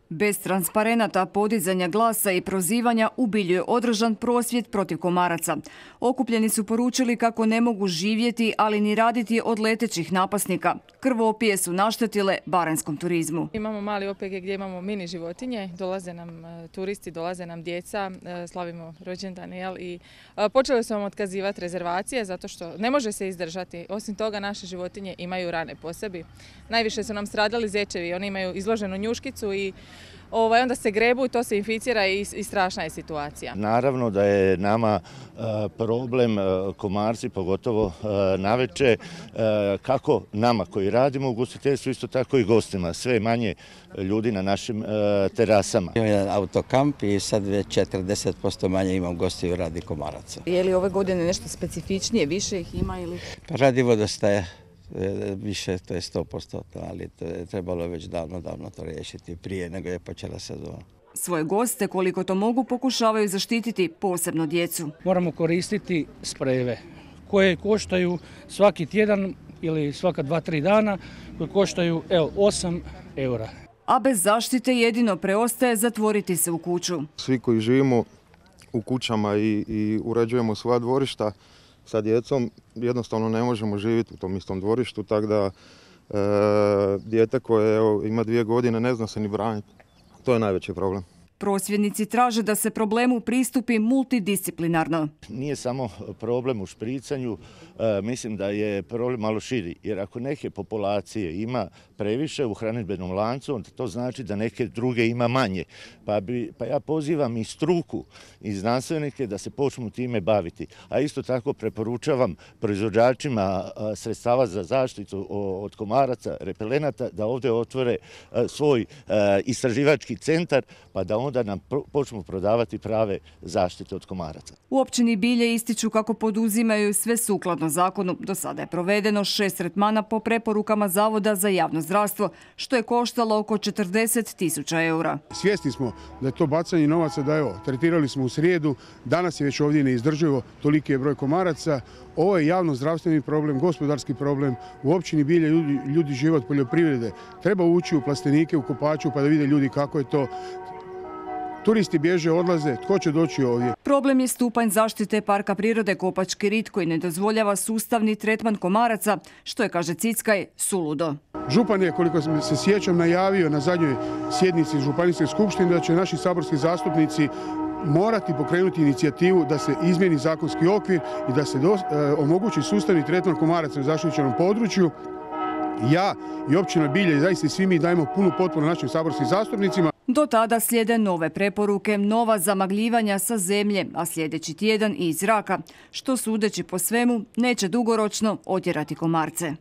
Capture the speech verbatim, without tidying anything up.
Bez transparenata, podizanja glasa i prozivanja u Bilju je održan prosvjed protiv komaraca. Okupljeni su poručili kako ne mogu živjeti, ali ni raditi od letećih napasnika. Krvopije su naštetile baranjskom turizmu. Imamo mali O P G gdje imamo mini životinje, dolaze nam turisti, dolaze nam djeca, slavimo rođendan i počeli su vam otkazivati rezervacije zato što ne može se izdržati. Osim toga, naše životinje imaju rane po sebi. Najviše su nam stradali zečevi, oni imaju izloženu njuškicu i Ovaj, onda se grebu i to se inficira i, i strašna je situacija. Naravno da je nama e, problem e, komarci, pogotovo e, navečer, e, kako nama koji radimo u ugostiteljstvu, isto tako i gostima. Sve manje ljudi na našim e, terasama. Imam jedan autokamp i sad već četrdeset posto manje imam gostiju radi komaraca. Je li ove godine nešto specifičnije, više ih ima ili? Pa radi vodostaje. Više, to je sto posto, ali to je trebalo već davno, davno to riješiti prije nego je počela sezona. Svoje goste, koliko to mogu, pokušavaju zaštititi, posebno djecu. Moramo koristiti sprejeve koje koštaju svaki tjedan ili svaka dva, tri dana, koje koštaju evo, osam eura. A bez zaštite jedino preostaje zatvoriti se u kuću. Svi koji živimo u kućama i, i uređujemo svoja dvorišta, sa djecom jednostavno ne možemo živjeti u tom istom dvorištu, tako da e, dijete koje evo, ima dvije godine ne zna se ni braniti. To je najveći problem. Prosvjednici traže da se problemu pristupi multidisciplinarno. Nije samo problem u špricanju, e, mislim da je problem malo širi. Jer ako neke populacije ima previše u hranidbenom lancu, onda to znači da neke druge ima manje. Pa, bi, pa ja pozivam i struku i znanstvenike da se počnu time baviti. A isto tako preporučavam proizvođačima sredstava za zaštitu od komaraca, repelenata, da ovdje otvore svoj istraživački centar, pa da onda nam počnu prodavati prave zaštite od komaraca. U općini Bilje ističu kako poduzimaju sve sukladno zakonu. Do sada je provedeno šest tretmana po preporukama Zavoda za javno zdravstvo, što je koštalo oko četrdeset tisuća eura. Svjesni smo da je to bacanje novaca, da evo, tretirali smo u srijedu, danas je već ovdje neizdrživo, toliki je broj komaraca. Ovo je javno zdravstveni problem, gospodarski problem. U općini Bilje ljudi, ljudi žive od poljoprivrede. Treba ući u plastenike, u Kopaču pa da vide ljudi kako je to. Turisti bježe, odlaze, tko će doći ovdje? Problem je stupanj zaštite Parka prirode Kopački rit koji ne dozvoljava sustavni tretman komaraca, što je, kaže Cickaj, suludo. Župan je, koliko se sjećam, najavio na zadnjoj sjednici Županijske skupštine da će naši saborski zastupnici morati pokrenuti inicijativu da se izmijeni zakonski okvir i da se do, e, omogući sustavni tretman komaraca u zaštićenom području. Ja i općina Bilje i zaista svi mi dajemo punu potporu našim saborskim zastupnicima. Do tada slijede nove preporuke, nova zamagljivanja sa zemlje, a sljedeći tjedan i iz zraka, što sudeći po svemu neće dugoročno otjerati komarce.